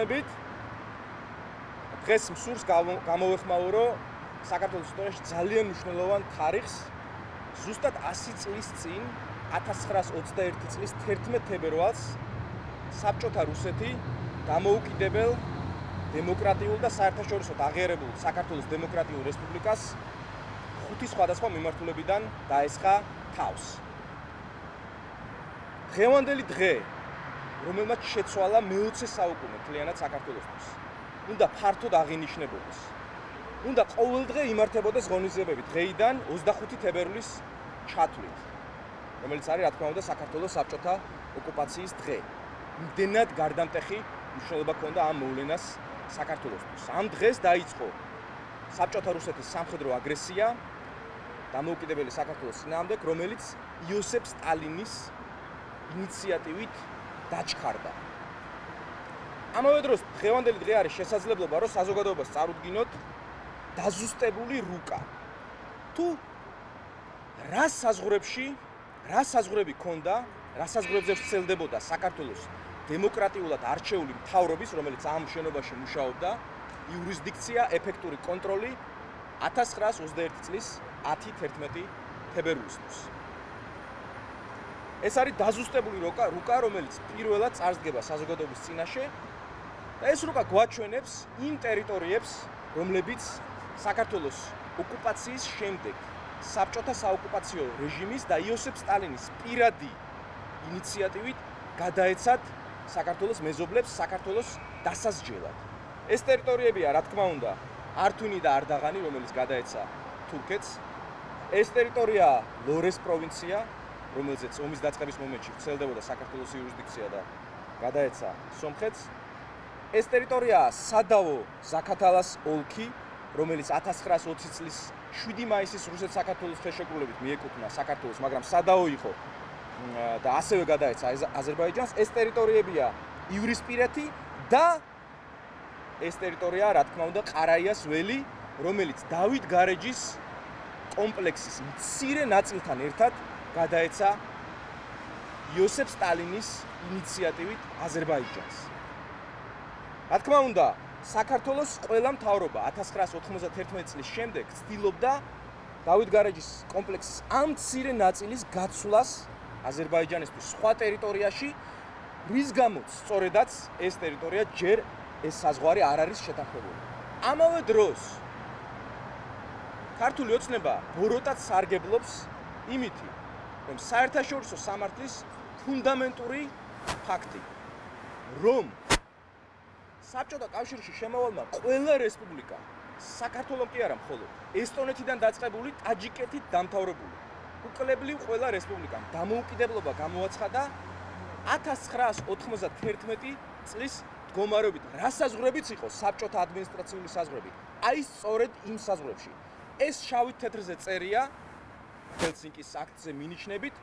მოგეხსნებით. დღეს მსურს გამოვეხმაო, რომ საქართველოს ისტორიაში ძალიან მნიშვნელოვან თარიღს ზუსტად 100 წლის წინ 1921 წლის 11 თებერვალს საბჭოთა რუსეთი დამოუკიდებელ დემოკრატიულ და საერთაშორისოდ აღიარებულ საქართველოს დემოკრატიულ რესპუბლიკას 5 სხვადასხვა მიმართულებიდან დაესხა თავს. დღევანდელი დღე, რომელმაც შეცვალა მე-20 საუკუნე მთლიანად საქართველოსთვის, უნდა ფართოდ აღინიშნებოდეს. უნდა ყოველდღე იმართებოდეს ღონისძიებები დღეიდან 25 თებერვლის ჩათვლით, რომელიც არის, რა თქმა უნდა, საქართველოს საბჭოთა ოკუპაციის დღე. იმდენად გარდამტეხი მნიშვნელობა ჰქონდა ამ მოვლენას საქართველოსთვის. ამ დღეს დაიწყო საბჭოთა რუსეთის სამხედრო აგრესია დამოუკიდებელი საქართველოს წინააღმდეგ, რომელიც იოსებ სტალინის ინიციატივით დაჩქარდა. ამავე დროს დღევანდელი დღე არის შესაძლებლობა, რომ საზოგადოებას წარუდგინოთ დაზუსტებული რუკა. თუ რა საზღვრები ქონდა, რა საზღვრებზე ვრცელდებოდა საქართველოს დემოკრატიულად არჩეული მთავრობის, რომელიც ამ შენობაში მუშაობდა, იურისდიქცია, ეფექტური კონტროლი 1921 წლის 10-11 თებერვლისთვის. ეს არის დაზუსტებული რუკა, რომელიც პირველად წარსდგება საზოგადოების წინაშე და ეს რუკა გვაჩვენებს იმ ტერიტორიებს, რომლებიც საქართველოს ოკუპაციის შემდეგ საბჭოთა საოკუპაციო რეჟიმის და იოსებ სტალინის პირადი ინიციატივით გადაეცათ საქართველოს მეზობლებს საქართველოს დასასჯელად. ეს ტერიტორიებია, რა თქმა უნდა, ართვინი და არდაღანი, რომელიც გადაეცა თურქეთს. ეს ტერიტორია ლორეს პროვინცია, რომელზეც ომის დაწყების მომენტში ვრცელდებოდა საქართველოს იურისდიქცია და გადაეცა სომხეთს. ეს ტერიტორია სადავო ზაქათალას ოლქი, რომელიც 1920 წლის 7 მაისის რუსეთ-საქართველოს ხელშეკრულებით მიეკუთვნა საქართველოს, მაგრამ სადავო იყო და ასევე გადაეცა აზერბაიჯანს. ეს ტერიტორიებია ივრისპირეთი და ეს ტერიტორია, რა თქმა უნდა, ყარაიას ველი, რომელიც დავით გარეჯის კომპლექსის მცირე ნაწილთან ერთად გადაეცა იოსებ სტალინის ინიციატივით აზერბაიჯანს. რა თქმა უნდა, საქართველოს ყველა მთავრობა 1991 წლის შემდეგ ცდილობდა დავით გარეჯის კომპლექსის ამ მცირე ნაწილის გაცვლას აზერბაიჯანისთვის სხვა ტერიტორიაში, რის გამოც სწორედაც ეს ტერიტორია ჯერ ეს საზღვარი არ არის შეთანხმებული. ამავე დროს ქართული ოცნება ბოროტად სარგებლობს იმითი, რომ საერთაშორისო სამართლის ფუნდამენტური ფაქტი, რომ საბჭოთა კავშირში შემავალმა ყველა რესპუბლიკა, საქართველოს კი არა მხოლოდ, ესტონეთიდან დაწყებული, ტაჯიკეთით დამთავრებული, უკლებლივ ყველა რესპუბლიკამ დამოუკიდებლობა გამოაცხადა 1991 წლის მდგომარეობით, რა საზღვრებიც იყო საბჭოთა ადმინისტრაციული საზღვრები. აი სწორედ იმ საზღვრებში. ეს შავით თეთრზე წერია ჰელსინკის აქტზე მინიშნებით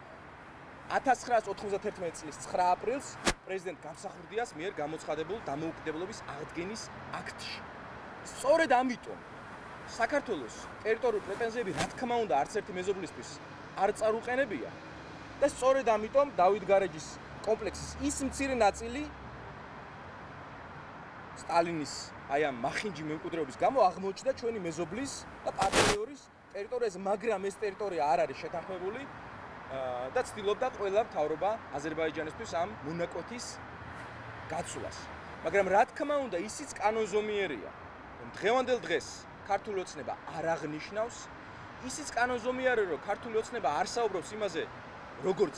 1991 წლის 9 აპრილს პრეზიდენტ გამსახურდიას მიერ გამოცხადებულ დამოუკიდებლობის აღდგენის აქტში. სწორედ ამიტომ საქართველოს ტერიტორიული პრეტენზიები, რა თქმა უნდა, არც ერთი მეზობლისთვის არ წარუყენებია და სწორედ ამიტომ დავით გარეჯის კომპლექსის ის მცირე ნაწილი სტალინის აი ამ მახინჯი მემკვიდრეობის გამო აღმოჩნდა ჩვენი მეზობლის და პარტნიორის ტერიტორიაზე, მაგრამ ეს ტერიტორია არ არის შეთანხმებული და ცდილობდა ყველა მთავრობა აზერბაიჯანისთვის ამ მონაკვეთის გაცვლას. მაგრამ რა თქმა უნდა, ისიც კანონზომიერია, რომ დღევანდელ დღეს ქართული ოცნება არ აღნიშნავს, ისიც კანონზომიერია, რომ ქართული ოცნება არ საუბრობს იმაზე, როგორც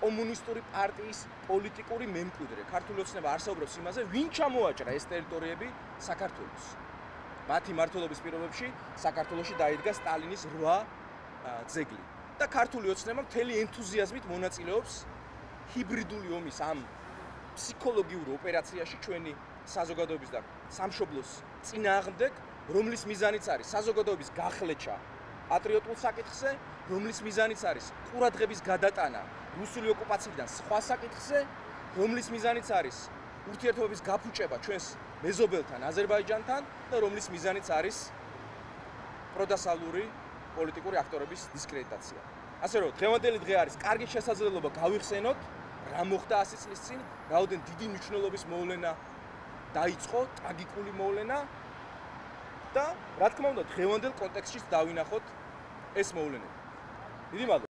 კომუნისტური პარტიის პოლიტიკური მემკვიდრე. ქართული ოცნება არ საუბრობს იმაზე, ვინ ჩამოაჭრა ეს ტერიტორიები საქართველოს. მათი მმართველობის პირობებში საქართველოში დაიდგა სტალინის 8 ძეგლი. და ქართული ოცნება მთელი ენთუზიაზმით მონაწილეობს ჰიბრიდული ომის ამ ფსიქოლოგიურ ოპერაციაში ჩვენი საზოგადოების და სამშობლოს წინააღმდეგ, რომლის მიზანიც არის საზოგადოების გახლეჩა პატრიოტულ საკითხზე, რომლის მიზანიც არის ყურადღების გადატანა რუსული ოკუპაციიდან სხვა საკითხზე, რომლის მიზანიც არის ურთიერთობების გაფუჭება ჩვენს მეზობელთან აზერბაიჯანთან და რომლის მიზანიც არის პროდასალური პოლიტიკური აქტორების დისკრედიტაცია. ასე რომ დღევანდელი დღე არის კარგი შესაძლებლობა გავიხსენოთ რა მოხდა 100 წლის წინ, რაოდენ დიდი მნიშვნელობის მოვლენა დაიწყო ტრაგიკული მოვლენა და რა თქმა უნდა დღევანდელ კონტექსტშიც დავინახოთ ეს მოვლენები. დიდი მადლობა.